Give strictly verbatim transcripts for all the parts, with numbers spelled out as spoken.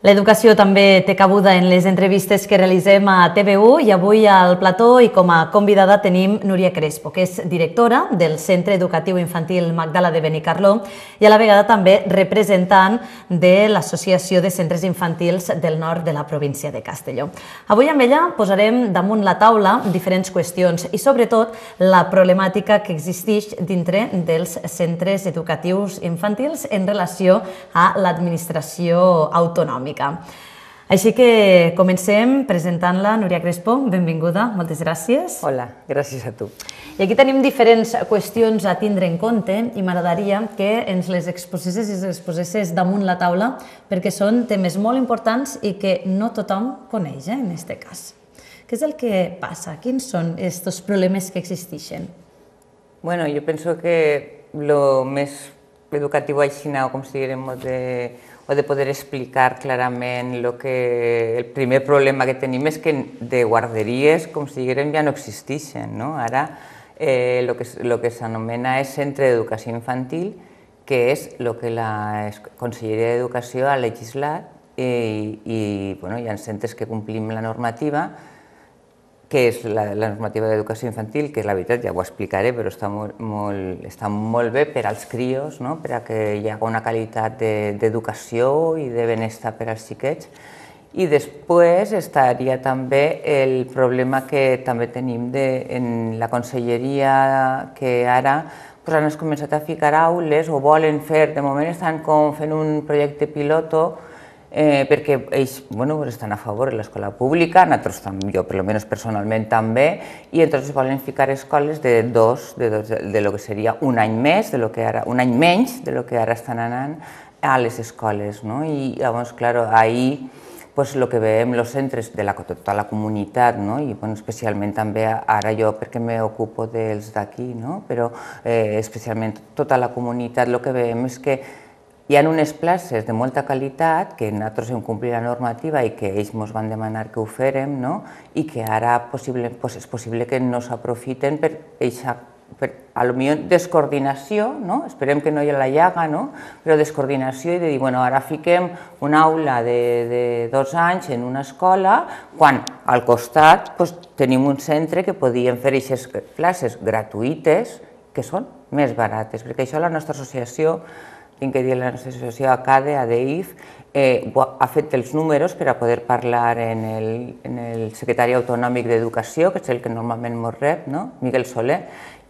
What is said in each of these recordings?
L'educació també té cabuda en les entrevistes que realitzem a T V u i avui al plató i com a convidada tenim Núria Crespo, que és directora del Centre Educatiu Infantil Magdala de Benicarló i a la vegada també representant de l'Associació de Centres Infantils del nord de la província de Castelló. Avui amb ella posarem damunt la taula diferents qüestions i sobretot la problemàtica que existeix dintre dels centres educatius infantils en relació a l'administració autonòmica. Així que comencem presentant-la, Núria Crespo, benvinguda, moltes gràcies. Hola, gràcies a tu. I aquí tenim diferents qüestions a tindre en compte i m'agradaria que ens les exposessis i les posessis damunt la taula perquè són temes molt importants i que no tothom coneix, en aquest cas. Què és el que passa? Quins són aquests problemes que existeixen? Bueno, yo pienso que lo més educatiu així, com si diguem, de o de poder explicar clarament lo que el primer problema que tenim és que de guarderies, com si diguem, ja no existeixen. No? Ara eh, lo que, lo que s'anomena és Centre d'Educació Infantil, que és el que la Conselleria d'Educació ha legislat i, i bueno, hi ha centres que complim la normativa, que és la, la normativa d'educació infantil, que la veritat ja ho explicaré, però està molt, molt, està molt bé per als crios, no? Per a que hi hagi una qualitat d'educació de, i de benestar per als xiquets. I després estaria també el problema que també tenim de, en la conselleria, que ara pues, han començat a ficar aules o volen fer, de moment estan com fent un projecte piloto Eh, perquè ells bueno, estan a favor de l'escola pública, nosaltres també, jo per almenys personalment també, i entonces volen ficar escoles de dos, de, dos, de lo que seria un any més, de lo que ara, un any menys de lo que ara estan anant a les escoles. No? I llavors, clar, ahí pues, lo que veiem els centres de la, tota la comunitat, no? I bueno, especialment també ara jo perquè m'ocupo dels d'aquí, no? Però eh, especialment tota la comunitat, el que veiem és que hi ha unes places de molta qualitat que nosaltres hem complit la normativa i que ells ens van demanar que ho fèrem, no? I que ara possible, pues, és possible que no s'aprofiten per eixa, per a lo millor descoordinació, no? Esperem que no hi ha la llaga, no? Però descoordinació i de dir, bueno, ara fiquem una aula de, de dos anys en una escola quan al costat pues, tenim un centre que podien fer aquestes places gratuïtes que són més barates, perquè això la nostra associació tinc que dir, la nostra associació ACADE, ADEIF, eh, ha fet els números per a poder parlar en el, en el secretari autonòmic d'Educació, que és el que normalment ens rep, no? Miguel Soler,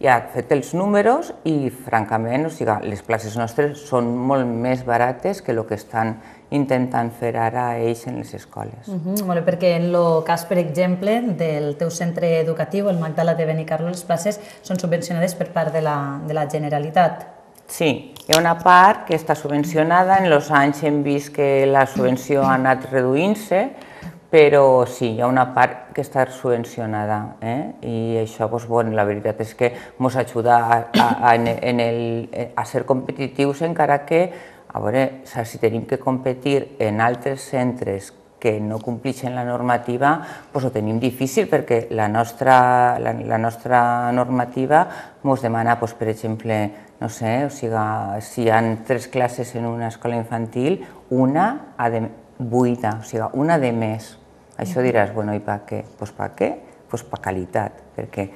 i ha fet els números i, francament, o sigui, les places nostres són molt més barates que el que estan intentant fer ara ells en les escoles. Uh -huh. Bueno, perquè en el cas, per exemple, del teu centre educatiu, el Magdala de Benicarló, les places són subvencionades per part de la, de la Generalitat. Sí, hi ha una part que està subvencionada, en els anys hem vist que la subvenció ha anat reduint-se, però sí, hi ha una part que està subvencionada, eh? I això, doncs, bueno, la veritat és que ens ajuda a, a, a, en el, a ser competitius, encara que, a veure, si tenim que competir en altres centres que no compleixen la normativa, doncs ho tenim difícil perquè la nostra, la, la nostra normativa ens demana, doncs, per exemple, no sé, o sigui, si hi ha tres classes en una escola infantil, una ha de buida, o sigui, una de més. Això diràs, bueno, i per què? Doncs per què? Doncs per qualitat, perquè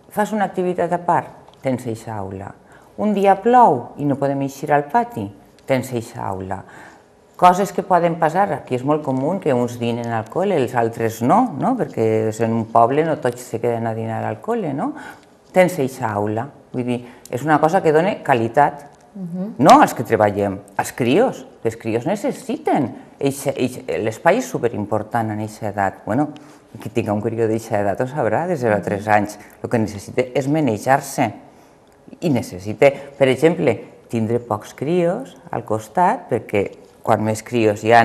fas una activitat a part, tens eixa aula. Un dia plou i no podem eixir al pati, tens eixa aula. Coses que poden passar, aquí és molt comú que uns dinen al col·le, els altres no, no? Perquè en un poble no tots se queden a dinar al col·le, no? Tens eixa aula. Vull dir, és una cosa que dona qualitat, no als que treballem, als crios. Els crios necessiten, l'espai és superimportant en aquesta edat. Bueno, qui tingui un crió d'aquesta edat ho sabrà, de zero a tres anys. El que necessita és manejar-se i necessita, per exemple, tindre pocs crios al costat, perquè quan més crios hi ha,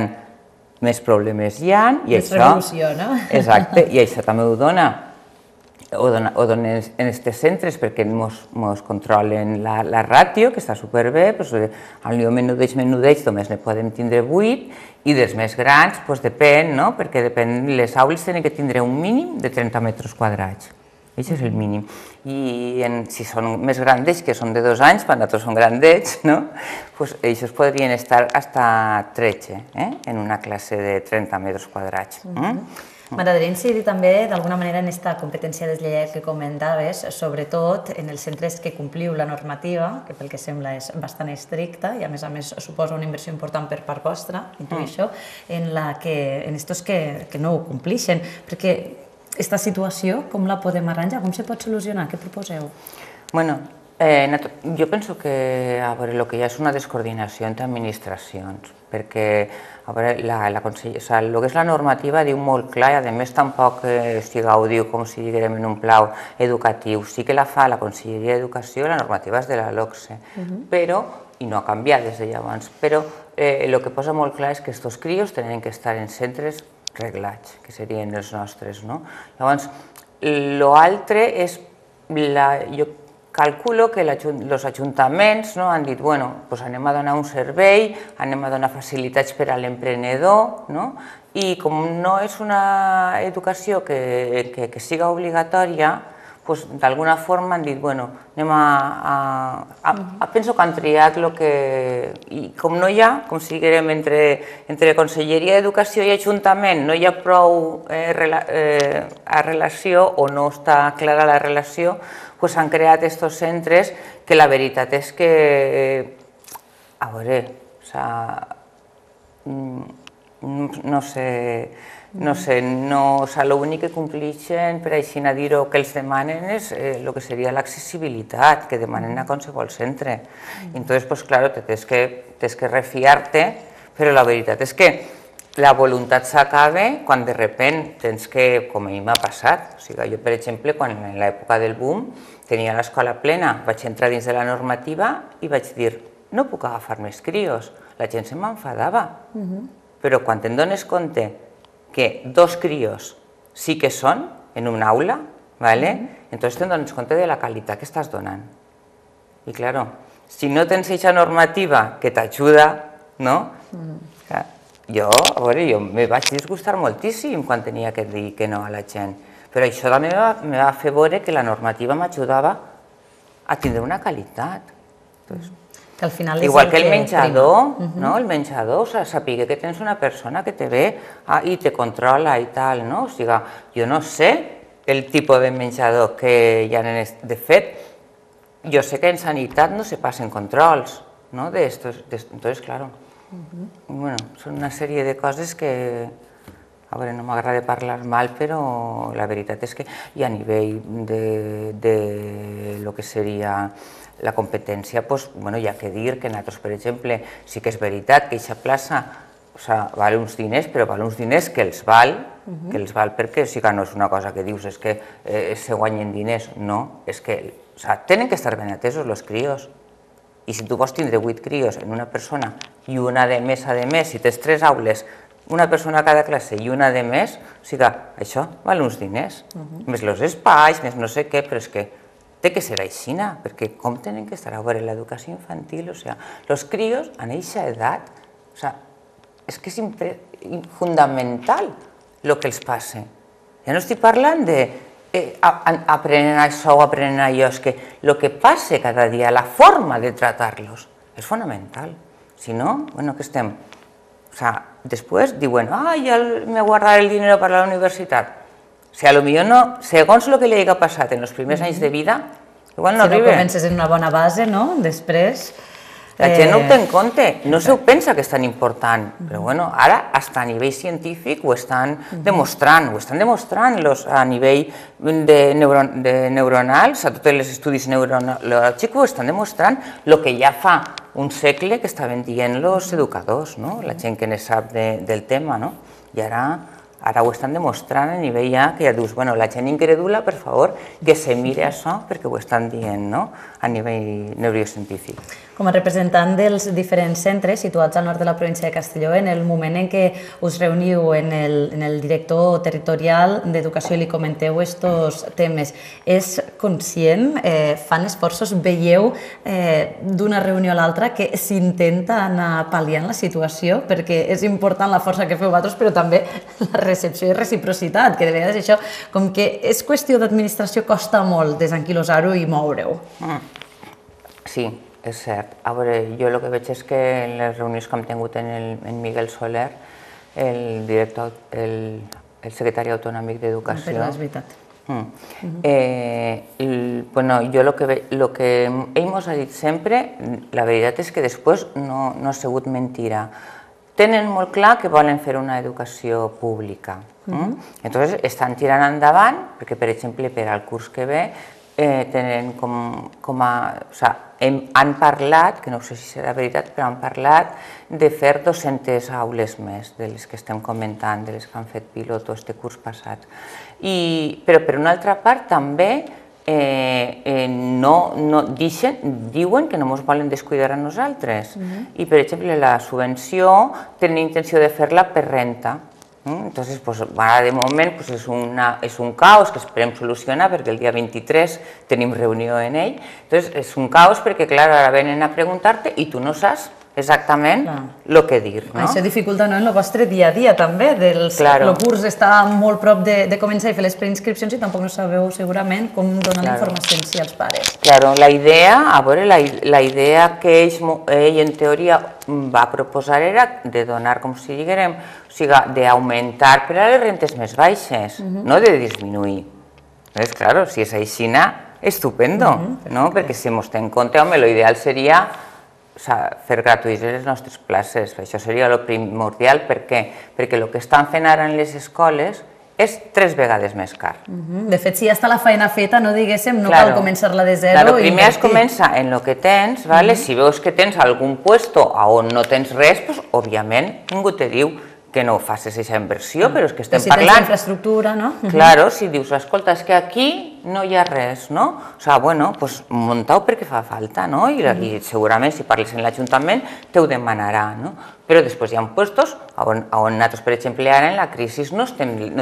més problemes hi ha. Més revolució, no? Exacte, i això també ho dona o donen en aquests centres perquè ens controlen la ràtio, que està superbé, al millor menudeix, menudeix, només ne podem tindre vuit, i dels més grans, doncs depèn, perquè les aules tenen que tindre un mínim de trenta metres quadrats. Això és el mínim. I si són més grandets, que són de dos anys, quan nosaltres són grandets, doncs ells podrien estar fins tretze en una classe de trenta metres quadrats. M'agradaria incidir també, d'alguna manera, en aquesta competència deslleial que comentaves, sobretot en els centres que compliu la normativa, que pel que sembla és bastant estricta i, a més a més, suposa una inversió important per part vostra, intuïixo, en la que, en estos que no ho complixen. Perquè aquesta situació, com la podem arranjar? Com se pot solucionar? Què proposeu? Bueno, jo penso que el que hi ha és una descoordinació entre administracions, perquè el que és la normativa diu molt clar i a més tampoc ho diu com si diguem en un pla educatiu. Sí que la fa la Conselleria d'Educació, la normativa és de la LOCSE, però, i no ha canviat des de llavors, però el que posa molt clar és que aquests crios tenen que estar en centres reglats, que serien els nostres. Llavors, l'altre és, jo calculo que els ajuntaments han dit, bueno, anem a donar un servei, anem a donar facilitats per a l'emprenedor, i com no és una educació que siga obligatòria, d'alguna forma han dit, bueno, anem a... Penso que han triat el que... I com no hi ha, com si diguem, entre Conselleria d'Educació i Ajuntament no hi ha prou relació o no està clara la relació, s'han creat aquests centres que la veritat és que, a veure, no sé, no sé, l'únic que complixen, per així dir-ho, que els demanen és el que seria l'accessibilitat, que demanen a qualsevol centre. I llavors, clar, tens que refiar-te, però la veritat és que la voluntat s'acaba quan de sobte tens que, com a mi m'ha passat, o sigui, jo, per exemple, quan en l'època del boom tenia l'escola plena, vaig entrar dins de la normativa i vaig dir, no puc agafar més crios, la gent se m'enfadava, però quan te'n dones compte que dos crios sí que són en una aula, llavors te'n dones compte de la qualitat que estàs donant. I, clar, si no tens aquesta normativa que t'ajuda, no? Jo, a veure, jo me vaig disgustar moltíssim quan tenia que dir que no a la gent, però això també me va fer veure que la normativa m'ajudava a tindre una qualitat. Igual que el menjador, el menjador, saber que tens una persona que te ve i te controla i tal, no? O sigui, jo no sé el tipus de menjador que hi ha. De fet, jo sé que en sanitat no se passen controls, no? Entonces, claro, són una sèrie de coses que, a veure, no m'agrada parlar mal, però la veritat és que i a nivell de lo que seria la competència, hi ha que dir que nosaltres, per exemple, sí que és veritat que aquesta plaça val uns diners, però val uns diners que els val, que els val perquè no és una cosa que dius és que se guanyen diners, no, és que tenen que estar ben atesos els crios. I si tu vols tindre vuit crios en una persona i una de més, a més, si tens tres aules, una persona a cada classe i una de més, o sigui, això val uns diners, més els espais, més no sé què, però és que té que ser així, perquè com tenen que estar a veure l'educació infantil, o sigui, els crios en aquesta edat, o sigui, és que és fundamental el que els passa. Ja no estic parlant de aprenen això o aprenen allò, és que el que passa cada dia, la forma de tractar-los, és fonamental. Si no, bueno, què estem? O sigui, després diuen, ah, ja me guardaré el dinero per a la universitat. O sigui, potser no, segons el que li hagi passat en els primers anys de vida, igual no arriba. Si no comences en una bona base, no? Després... La gent no ho té en compte, no se ho pensa que és tan important, però bueno, ara, fins a nivell científic, ho estan demostrant, ho estan demostrant a nivell neuronal, a tots els estudis neurològics, ho estan demostrant el que ja fa un segle que estaven dient els educadors, la gent que ne sap del tema, i ara ho estan demostrant a nivell ja que ja dius, bueno, la gent incrèdula, per favor, que se mire això perquè ho estan dient a nivell neurocientífic. Com a representant dels diferents centres situats al nord de la província de Castelló, en el moment en què us reuniu en el director territorial d'Educació i li comenteu aquests temes, és conscient, fan esforços, veieu d'una reunió a l'altra que s'intenta anar pal·liant la situació, perquè és important la força que feu vosaltres, però també la recepció i reciprocitat, que de vegades això, com que és qüestió d'administració, costa molt desanquilosar-ho i moure-ho. Sí, és cert. A veure, jo el que veig és que en les reunions que hem tingut en Miguel Soler, el director, el secretari autonòmic d'Educació... Però és veritat. Bueno, jo el que ell ens ha dit sempre, la veritat és que després no ha sigut mentira. Tenen molt clar que volen fer una educació pública. Llavors estan tirant endavant, perquè per exemple per al curs que ve tenen com a... han parlat, que no sé si serà veritat, però han parlat de fer dues-centes aules més de les que estem comentant, de les que han fet piloto este curs passat. Però per una altra part també diuen que no ens volen descuidar a nosaltres. I per exemple la subvenció tenen intenció de fer-la per renta. Entonces, de moment és un caos que esperem solucionar perquè el dia vint-i-tres tenim reunió en ell. Entonces, és un caos perquè, clar, ara venen a preguntar-te i tu no saps exactament el que dir. Això dificulta en el vostre dia a dia també. El curs està molt prop de començar a fer les preinscripcions i tampoc no sabeu segurament com donar la informació als pares. Claro, la idea, a veure, la idea que ell en teoria va proposar era de donar, com si diguem, o sigui, d'augmentar per a les rentes més baixes, no de disminuir. Doncs, clar, si és així, estupendo, no? Perquè si ens té en compte, home, l'ideal seria fer gratuïts les nostres places. Això seria el primordial. Per què? Perquè el que estan fent ara en les escoles és tres vegades més car. De fet, si ja està la feina feta, no diguéssim, no cal començar-la de zero. Primer es comença en el que tens, si veus que tens algun puesto on no tens res, òbviament ningú te diu que no facis aquesta inversió, però és que estem parlant... Si tens infraestructura, no? Claro, si dius, escolta, és que aquí no hi ha res, no? O sigui, bueno, doncs muntau perquè fa falta, no? I segurament si parles en l'Ajuntament te ho demanarà, no? Però després hi ha puestos on nosaltres, per exemple, ara en la crisi no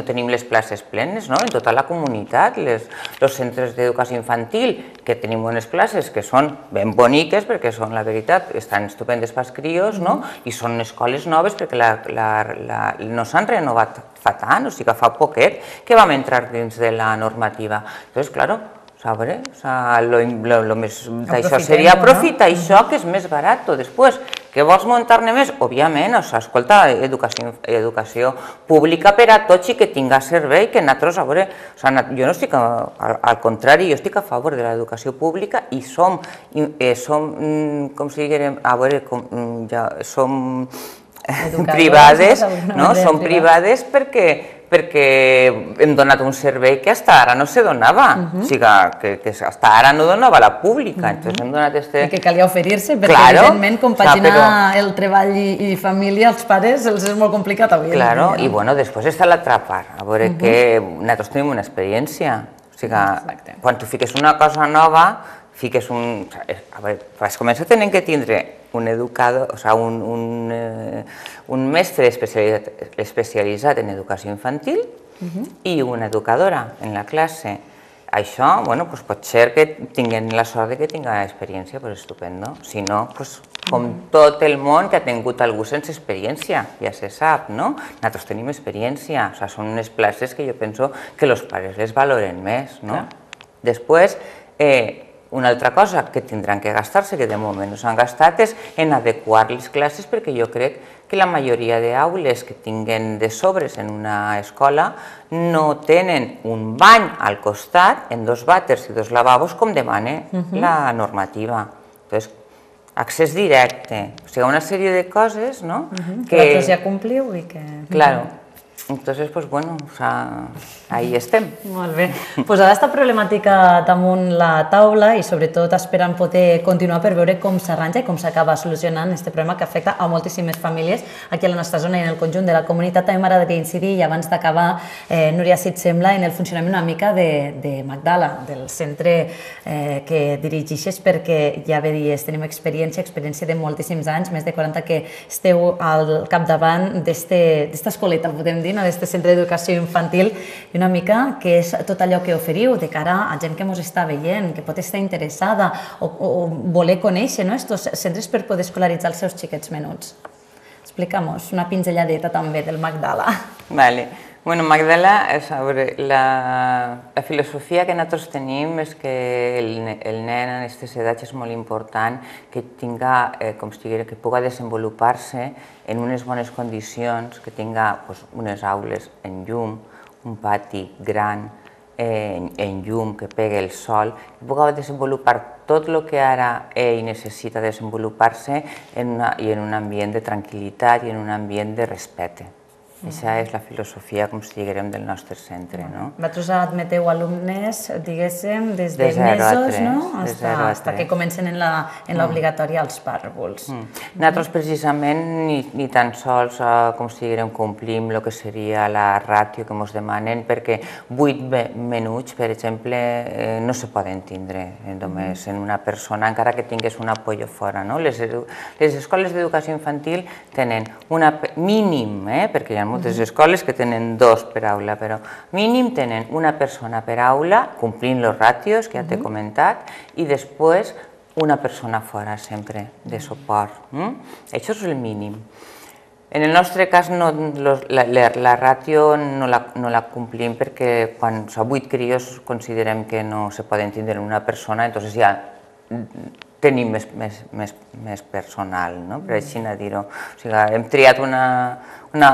tenim les places plenes, no? En tota la comunitat, els centres d'educació infantil, que tenim unes places que són ben boniques, perquè són, la veritat, estan estupendes pels crios, no? I són escoles noves perquè no s'han renovat fa tant, o sigui que fa poquet que vam entrar dins de la normativa. Llavors, clar, això seria aprofitar això que és més barat. Després, que vols muntar-ne més? Òbviament, escolta, educació pública per a tots i que tinga servei, que nosaltres, a veure, jo no estic, al contrari, jo estic a favor de l'educació pública i som, com si diguem, a veure, som privades, no? Som privades perquè perquè hem donat un servei que fins ara no se donava, o sigui que fins ara no donava la pública, entonces hem donat este... I que calia oferir-se, perquè evidentment compaginar el treball i família als pares els és molt complicat avui. Claro, i bueno, després està l'altra part, a veure que nosaltres tenim una experiència, o sigui, quan tu fiques una cosa nova, fiques un... A veure, per començar tenen que tindre un educador, o sigui, un mestre especialitzat en educació infantil i una educadora en la classe. Això, bueno, pot ser que tinguin la sort que tinguin experiència, doncs estupendo. Si no, com tot el món que ha tingut algú sense experiència, ja se sap, no? Nosaltres tenim experiència, o sigui, són unes places que jo penso que els pares les valoren més, no? Després, una altra cosa que tindran que gastar-se, que de moment no s'han gastat, és en adequar les classes, perquè jo crec que la majoria d'aules que tinguen de sobres en una escola no tenen un bany al costat, en dos vàters i dos lavabos, com demana la normativa. Entonces, accés directe, o sigui, una sèrie de coses, no? Que vosaltres ja compliu i que... Claro. Entonces, pues bueno, o sea, ahí estem. Molt bé. Posada aquesta problemàtica damunt la taula i sobretot esperant poder continuar per veure com s'arranja i com s'acaba solucionant aquest problema que afecta a moltíssimes famílies aquí a la nostra zona i en el conjunt de la comunitat. També m'agradaria incidir, i abans d'acabar, Núria, si et sembla, en el funcionament una mica de Magdala, del centre que dirigeixes, perquè ja bé dies, tenim experiència, experiència de moltíssims anys, més de quaranta que esteu al capdavant d'esta escoleta, podem dir, d'aquest centre d'educació infantil, i una mica que és tot allò que oferiu de cara a gent que ens està veient, que pot estar interessada o voler conèixer aquests centres per poder escolaritzar els seus xiquets menuts. Explica'm-nos una pinzelladeta també del Magdala. Vale. Bueno, Magdala, la, la filosofia que nosaltres tenim és que el, el nen en aquestes edats és molt important que tinga, eh, com si digués, que pugui desenvolupar-se en unes bones condicions, que tinga pues, unes aules en llum, un pati gran, en, en llum, que pegue el sol, que pugui desenvolupar tot el que ara ell necessita desenvolupar-se en, una, i en un ambient de tranquil·litat i en un ambient de respecte. Aquesta és la filosofia, com si diguem, del nostre centre. Vosaltres admeteu alumnes, diguéssim, des de mesos, no? Fins que comencen en l'obligatòria als pàrvuls. Nosaltres, precisament, ni tan sols, com si diguem, complim el que seria la ràtio que ens demanen, perquè vuit minuts, per exemple, no se poden tindre només en una persona, encara que tingués un apoyo fora. Les escoles d'educació infantil tenen un mínim, perquè hi ha moltes escoles que tenen dos per aula, però mínim tenen una persona per aula, complint els ràtios que ja t'he comentat, i després una persona fora sempre de suport. Això és el mínim. En el nostre cas, la ràtio no la complim perquè quan són vuit crios considerem que no se poden tindre en una persona, llavors ja tenim més personal, per així dir-ho. O sigui, hem triat una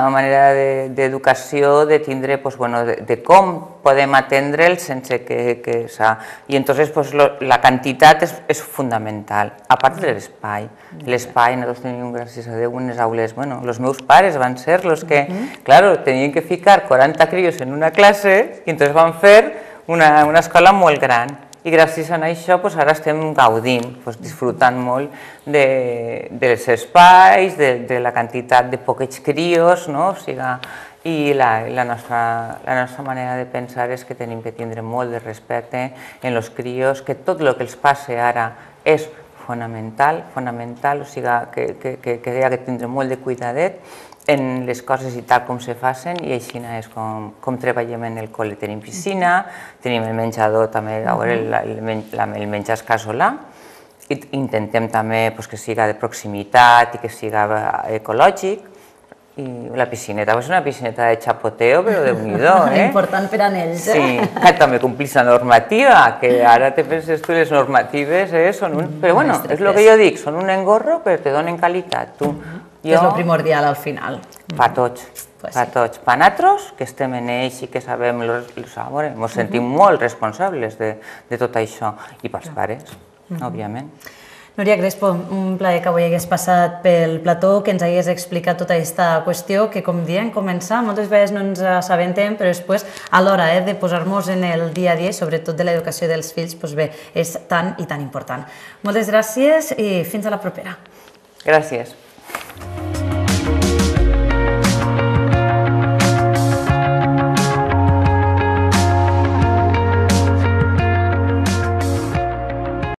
manera d'educació, de tindre, de com podem atendre'ls sense que s'ha... I llavors la quantitat és fundamental, a part de l'espai. L'espai, nosaltres tenim, gràcies a Déu, unes aules... Bueno, els meus pares van ser els que, clar, tenien que ficar quaranta crios en una classe i llavors van fer una escola molt gran. I gràcies a això ara estem gaudint, disfrutant molt dels espais, de la quantitat de poquets crios, i la nostra manera de pensar és que tenim que tindre molt de respecte en els crios, que tot el que els passa ara és fonamental, fonamental, o sigui que hi ha que tindre molt de cuidadet en les coses i tal com se facin, i així és com treballem en el col·le. Tenim piscina, tenim el menjador també, el menjar casolà, i intentem també que siga de proximitat i que siga ecològic, i la piscineta és una piscineta de xapoteo, però déu-n'hi-do, eh? Important per a ells, eh? Sí, també complís la normativa, que ara te penses tu, les normatives són un... Però bueno, és el que jo dic, són un engorro, però te donen qualitat, tu. És el primordial al final. Per tots, per tots. Per nosaltres, que estem en ells i que sabem, ens sentim molt responsables de tot això. I pels pares, òbviament. Núria Crespo, un plaer que avui hagués passat pel plató, que ens hagués explicat tota aquesta qüestió, que com diem, començar, moltes vegades no ens assabentem, però després, a l'hora de posar-nos en el dia a dia, sobretot de l'educació dels fills, doncs bé, és tan i tan important. Moltes gràcies i fins a la propera. Gràcies.